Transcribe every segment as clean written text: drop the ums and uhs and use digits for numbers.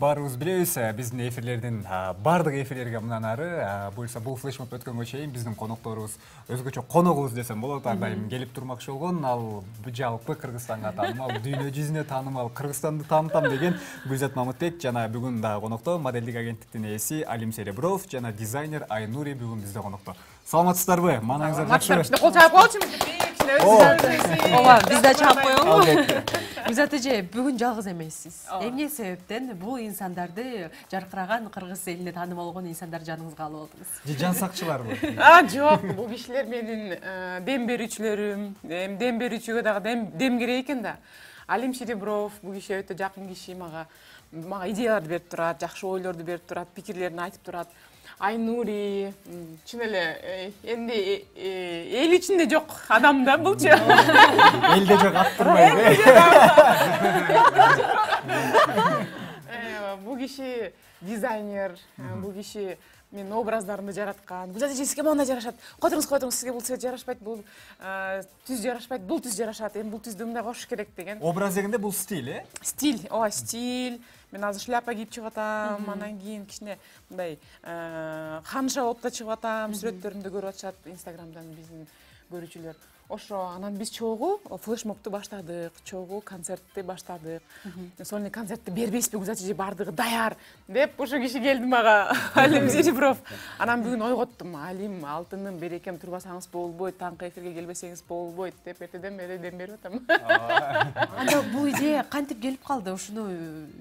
Баарыбыз билебиз, биздин эфирлердин бардык эфирлерге мындан ары буюрса бул флешмоб өткөнгө чейин биздин конокторубуз өзгөчө коногубуз десем болот, ар дайым келип турмакчы болгон. Ал жалпы Кыргызстанга таанымал, дүйнө жүзүнө таанымал, Кыргызстанды таанытам деген Гүлзат Мамытбек жана бүгүн дагы конокто моделдик агенттиктин ээси Алим Серебров жана дизайнер Айнури бүгүн бизде конокто. Саламатсыздарбы? Маанаңыздар жакшыбы? Кол чаап коелучу. Ооба, биз да чаап коелу. Гүлзат эже, бүгүн жалгыз эмессиз. Эмне себептен бул инсандарды, жаркыраган кыргыз элине таанымал болгон инсандарды жаныңызга алып алдыңыз? Же жан сакчыларбы? Жок, бул кишилер менин дем берүүчүлөрүм. Дем берүүчүгө дагы дем керек экен да. Алим Серебров бул киши өтө жакын киши, мага идеяларды берип турат, жакшы ойлорду берип турат, пикирлерин айтып турат. Айнури чын эле энди эл ичинде жок адам да булчу. Элде жок ат турбайбы? Бул киши дизайнер, бул киши менин образдарымды жараткан. Гүлзат эже, сизге мындай жарашат. Койдуңуз, сизге бул цвет жарашпайт, бул түз жарашпайт, бул түз жарашат. Эми бул түздү мындай кошуш керек деген. Образ дегенде бул стиль, Стиль, ооба, стиль. Мен азыр шляпа кийип чыгып атам, анан кийин кичине мындай ханша болуп да чыгып атам, сүрөттөрүмдү көрүп атышат Инстаграмдан биздин көрүүчүлөр. Ошо анан биз чогуу флешмобду баштадык, чогуу концертти баштадык. Сольный концертти бербейсизби, Гүлзат эже, бардыгы даяр деп ошо киши келди мага, Алим Серебров. Анан бүгүн ойготтум, Алим, алтыным, берекем, турбасаңыз болбойт, таңкы эфирге келбесеңиз болбойт деп эртеден бери дем берип атам. Анда бул идея кантип келип калды? Ушуну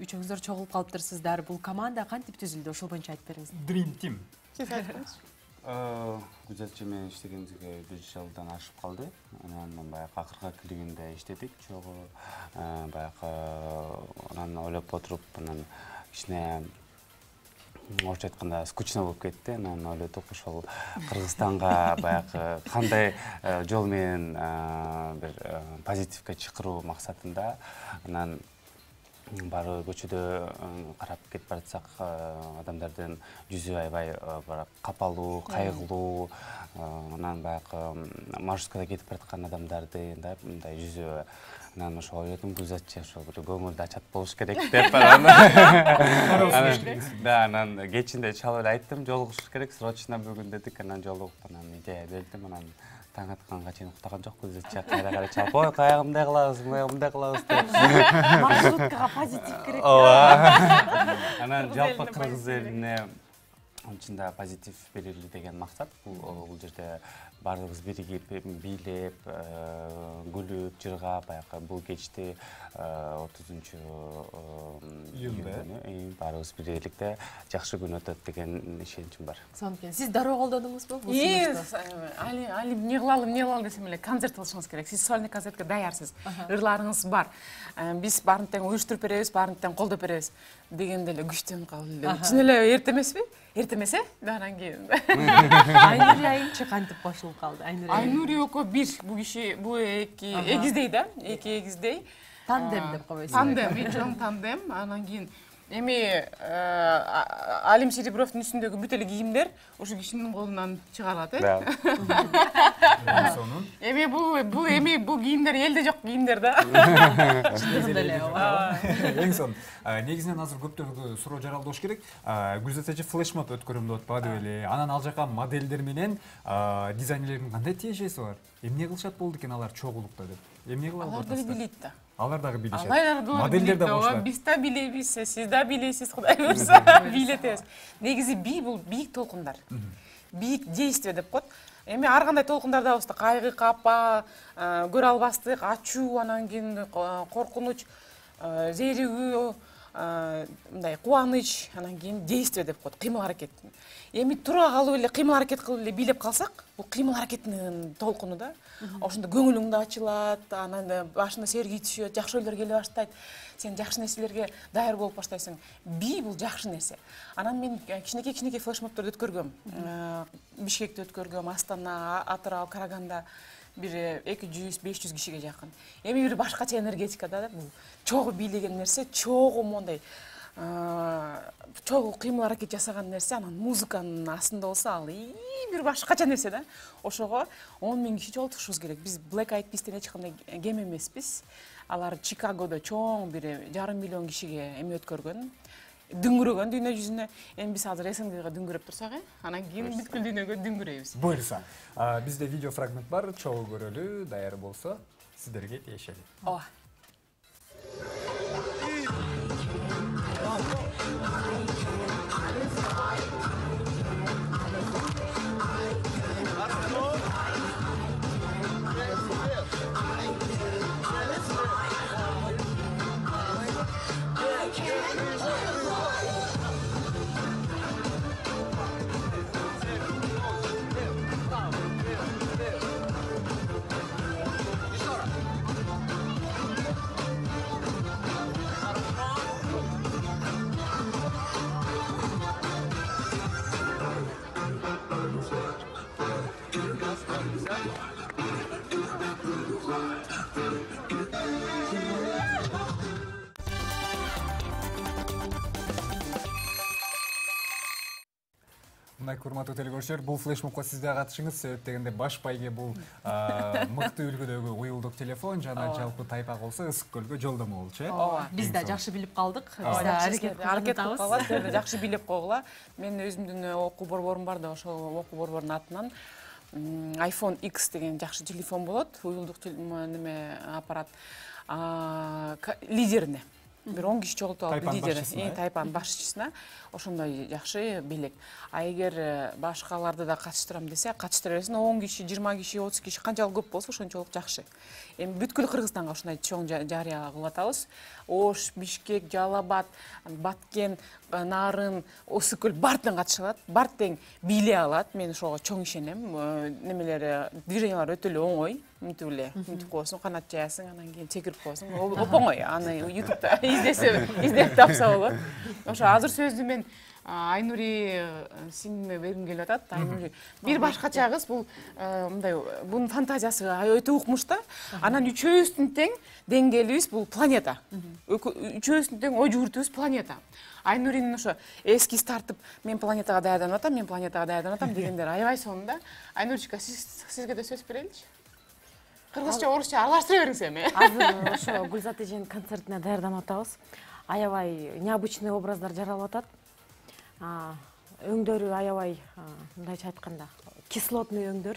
үчөөңүздөр чогулуп калыптырсыздар. Бул команда кантип түзүлдү? Ошол боюнча айтып бериңиз. Dream Team. Сиз айткыңызчы. Гүлзат эже менен иштегенибизге 1 жылдан ашып калды. Анан баягы акыркы клигинде иштедик чогуу. Баягы анан ойлоп отуруп, анан кичине орусча айтканда скучно болуп кетти. Анан ойлодук, ошол Кыргызстанга баягы кандай жол менен бир позитивге чакыруу максатында. Анан баары көчөдө карап кетип баратсак, адамдардын жүзү аябай капалуу, кайгылуу, анан баягы маршруткада кетип бараткан адамдарды мындай жүзү. Анан ошо ойлодум, Гүлзат эже ошо бир көңүлдү ачат болуш керек деп. Анан кечинде чалып эле айттым, жолугушуш керек, срочно бүгүн дедик. Анан жолугуп, анан идея бердим, анан таң атканга чейин уктаган жок. Гүлзат эже кайра чалып, ой, каягы мындай кылабыз, мындай кылабыз деп. Маршруткага позитив керек. Ооба. Анан жалпы кыргыз элине чында позитив берели деген максат. Бул жерде баардыгыбыз биригип, бийлеп, күлүп, жыргап, баягы бул кечти 30-июлда баарыбыз биргеликте жакшы күн өтөт деген ишеничим бар. Сонун. Сиз дароо колдондуңузбу бул сунушту? Алим, эмне кылалы десем эле, концерт кылышыңыз керек. Сиз сольный концертке даярсыз. Ырларыңыз бар. Биз баарын тең уюштуруп беребиз, баарын тең колдоп беребиз дегенде эле күчтөнүп калды. Чын эле эрте эмеспи? Эрте эмес, анан кийин. Айнури айымчы кантип кошулуп калды? Айнури экөө бир, бул киши, бул эки эгиздей да, эки эгиздей. Тандем деп койбойсузбу? Тандем, чоң тандем. Анан кийин эми Алим Серебровдун үстүндөгү бүт эле кийимдер ошо кишинин колунан чыгарылат, Сонун. Эми бул кийимдер элде жок кийимдер да. Чындыгында эле, ооба. Эң сонун. Негизинен азыр көптөргө суроо жаралдыш керек. Гүлзат эже флешмоб өткөрөм деп атпады беле? Анан ал жака моделдер менен дизайнерлердин кандай тиешеси бар? Эмне кылышат болду экен алар чогулукта деп? Эмне кылып Алар деле билет да. Алар дагы билишет. Модельдер да кошулат. Биз да билебиз, сиз да билесиз, Кудай буйрса, билетебиз. Негизи бий бул бийик толкундар. Бийик действие деп коет. Эми ар кандай толкундардабызда кайгы, капа, көрө албастык, ачуу, анан кийин коркунуч, зеригүү, мындай кубаныч, анан кийин действие деп коет, кыймыл аракет. Эми тура калып эле кыймыл аракет кылып эле бийлеп калсак, бул кыймыл аракеттин толкуну да. Ошондо көңүлүң да ачылат, анан башына серги түшөт, жакшы ойлор келе баштайт. Сен жакшы нерселерге даяр болуп баштайсың. Бий бул жакшы нерсе. Анан мен кичинекей флешмобторду өткөргөм. Бишкекте өткөргөм, Астана, Атырау, Караганда бир 200-500 кишиге жакын. Эми бир башкача энергетика да, бул чогуу бийлеген нерсе, чогуу мондай чогуу кыймыл аракет жасаган нерсе, анан музыканын астында болсо ал бир башкача нерсе да. Ошого 10 000 киши жолтушубуз керек. Биз Black Eyed Peas'тен эч кандай кем эмеспиз. Алар Чикагодо чоң бир 500 000 кишиге эме өткөргөн. дүңгүрөгөн дүйнө жүзүнө. Эми биз азыр СНГга дүңгүрөп турсак, анан кийин бүткүл дүйнөгө дүңгүрөйбүз. Буюрса, бизде видео фрагмент бар, чогуу көрөлү, даяр болсо сиздерге тиешели. Ооба. Мындай урматтуу телекөрүүчүлөр, бул флешмобко сиз да катышыңыз. Себеп дегенде баш байге бул мыкты үлгүдөгү уюлдук телефон жана жалпы тайпак болсо Ысык көлгө жолдомо болчу, э? Ооба. Биз да жакшы билип калдык. Биз да аракет кылып калат, жакшы билип койгула. Мен өзүмдүн окуу борборум бар да, ошол окуу борбордун атынан iPhone X деген жакшы телефон болот, уюлдук неме аппарат лидерине. Бир 10 киши чогултуп алып лидери, тайпанын башчысына ошондой жакшы белек. А эгер башкаларды да катыштырам десе, катыштыра берсин. 10 киши, 20 киши, 30 киши канчалык көп болсо ошончолук жакшы. Эми бүткүл Кыргызстанга ушундай чоң жарыя кылып атабыз. Ош, Бишкек, Жалал Абад, Баткен, Нарын, Ысык көл баардыгына катыша алат. Баары тең бийлей алат. Мен ошого чоң ишенем. Немелери, движениялар өтө эле оңой. Мынтип эле, мынтип коесуң, канат жаясың, анан кийин секирип коесуң. Оп-оңой. Аны YouTube'да издеп тапса болот. Ошо азыр сөздү мен Айнури сиңиме бергим келип атат. Айнури бир башкача кыз, бул мындай, бунун фантазиясы өтө укмуш да. Анан үчөөбүздүн тең деңгээлибиз бул планета. Үчөөбүздүн тең ой жүгүртүүбүз планета. Айнуринин ошо эскиз тартып, мен планетага даярданып атам, мен планетага даярданып атам дегендер аябай сонун да. Айнуричка, сизге да сөз береличи. Кыргызча, орусча аралаштыра бериңиз эми. Азыр ошо Гүлзат эженин концертине даярданып атабыз. Аябай необычный образдар жаралып атат. Өңдөрү аябай, мындайча айтканда, кислотный өңдөр.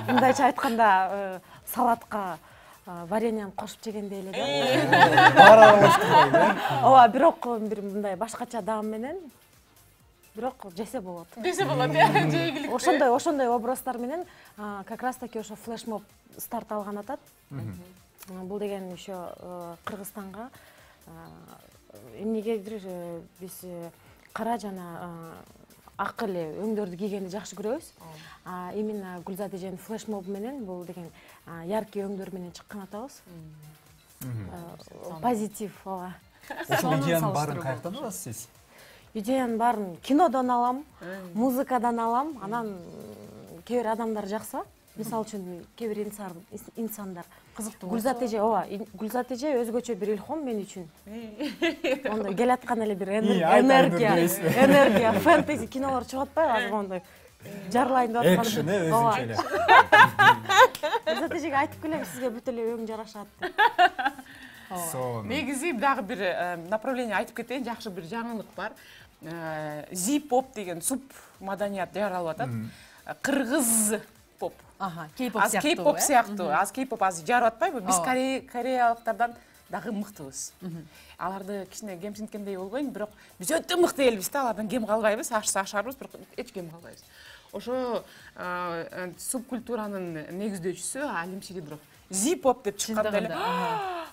Мындайча айтканда, салатка вареньяны кошуп жегендей эле да. Баары аралаштырбайбы, э? Ооба, бирок бир мындай башкача даам менен бирок жесе болот. Жесе болот, жейгилик. Ошондой образдар менен как раз таки ошо флешмоб старт алган атат. Бул деген ошо Кыргызстанга эмнегедир биз кара жана ак эле өңдөрдү кийгенди жакшы көрөбүз. Именно Гүлзат эженин флешмоб менен бул деген яркий өңдөр менен чыккан атабыз. Позитив, ооба. Ошол идеянын баарын каяктан аласыз сиз? Идеянын баарын кинодон алам, музыкадан алам, анан кээ бир адамдар жакса, мисалы үчүн кээ бир инсандар кызыктуу. Гүлзат эже, ооба, Гүлзат эже өзгөчө бир илхом мен үчүн. Мондой келаткан эле бир энергия, фэнтези кинолор чыгып атпайбы азыр мондой жарлайын деп аткан. Экшн өзүнчө эле. Гүлзат эжеге айтып келем, сизге бүт эле өң жарашат деп. Негизи дагы бир направление айтып кетейин, жакшы бир жаңылык бар. Z-pop деген суп маданият жаралып атат. Кыргыз поп. Кей-поп сыяктуу. Аз кей-поп азыр жарып атпайбы? Биз кореялыктардан дагы мыктыбыз. Аларды кичине кемсинткендей болбойн, бирок биз өтө мыкты элбиз да, алардан кем калбайбыз, ашарбыз, бирок эч кем калбайбыз. Ошо субкультуранын негиздөөчүсү Алим Сидиров Z-pop деп чыкканда эле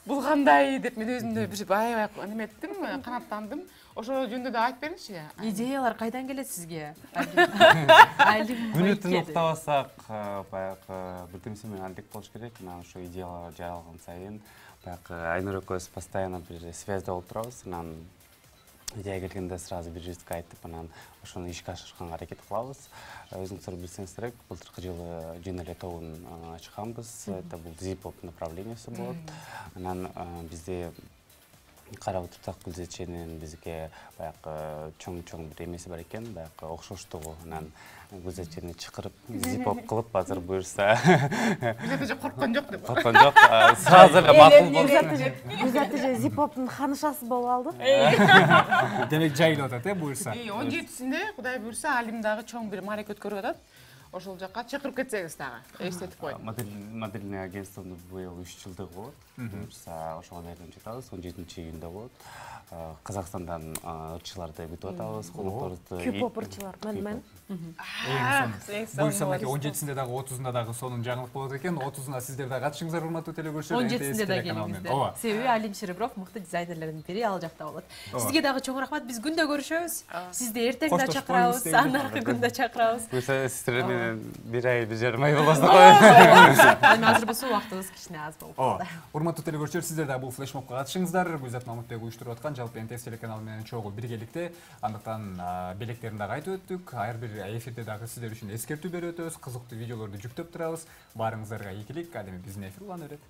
бул кандай деп мен өзүмдө бир аябай неме эттим, канаттандым. Ошо жөнүндө да айтып бериңизчи. Идеялар кайдан келет сизге? Мүнөтүн уктабасак, баягы бир кимсе менен андек болуш керек. Анан ошо идеялар жаралган сайын баягы Айнур экөөбүз постоянно бир связьда болуп турабыз. Анан идея келгенде сразу бирибизге айтып, анан ошону ишке ашырганга аракет кылабыз. Өзүңүздөр билсеңиз керек, былтыркы жылы жөн эле тобун ачканбыз. Это бул Z-pop направлениясы болот. Анан бизде карап отурсак Гүлзатченин бизге баягы чоң бир эмеси бар экен, баягы окшоштугу. Анан Гүлзатчени чакырып, зип-оп кылып, азыр буюрса. Гүлзат корккон жок деп. Корккон жок. Сразу эле макул болду. Гүлзат зип-оптун ханышасы болуп алды. Демек жайылып атат, буюрса. 17-синде Кудай буюрса Алим дагы чоң бир маарек өткөрүп атат. Ошол жакка чакырып кетсеңиз дагы эстетип коет. Модельный агентствонун быйыл 3 жылдыгы болот. Буюрса ошого даярданып жатабыз. 17-июнда болот. Казакстандан ырчыларды күтүп атабыз. Конокторубузду. Кюп ырчылар. Мен. Буюрса 17-синде дагы 30-унда дагы сонун жаңылык болот экен. 30-уна сиздер дагы катышыңыздар, урматтуу телекөрүүчүлөр. 17-синде да келиңиздер. Себеби Алим Шеребров мыкты дизайнерлердин бири ал жакта болот. Сизге дагы чоң рахмат. Биз күндө көрүшөбүз. Сизди эртең да чакырабыз, анаркы күндө чакырабыз. Буюрса сиздер менен 1 ай 1 жарым ай болбосун коет. Азыр болсо убактыбыз кичине аз болуп калды. Урматтуу телекөрүүчүлөр, сиздер дагы бул флешмобко катышыңыздар. Гүлзат Мамытбек уюштуруп аткан жалпы НТС телеканалы менен чогуу биргеликте. Андыктан белектерин дагы айтып өттүк. Ар бир эфирде дагы сиздер үчүн эскертүү берип өтөбүз. Кызыктуу видеолорду жүктөп турабыз. Баарыңыздарга ийгилик. Ал эми биздин эфир улана берет.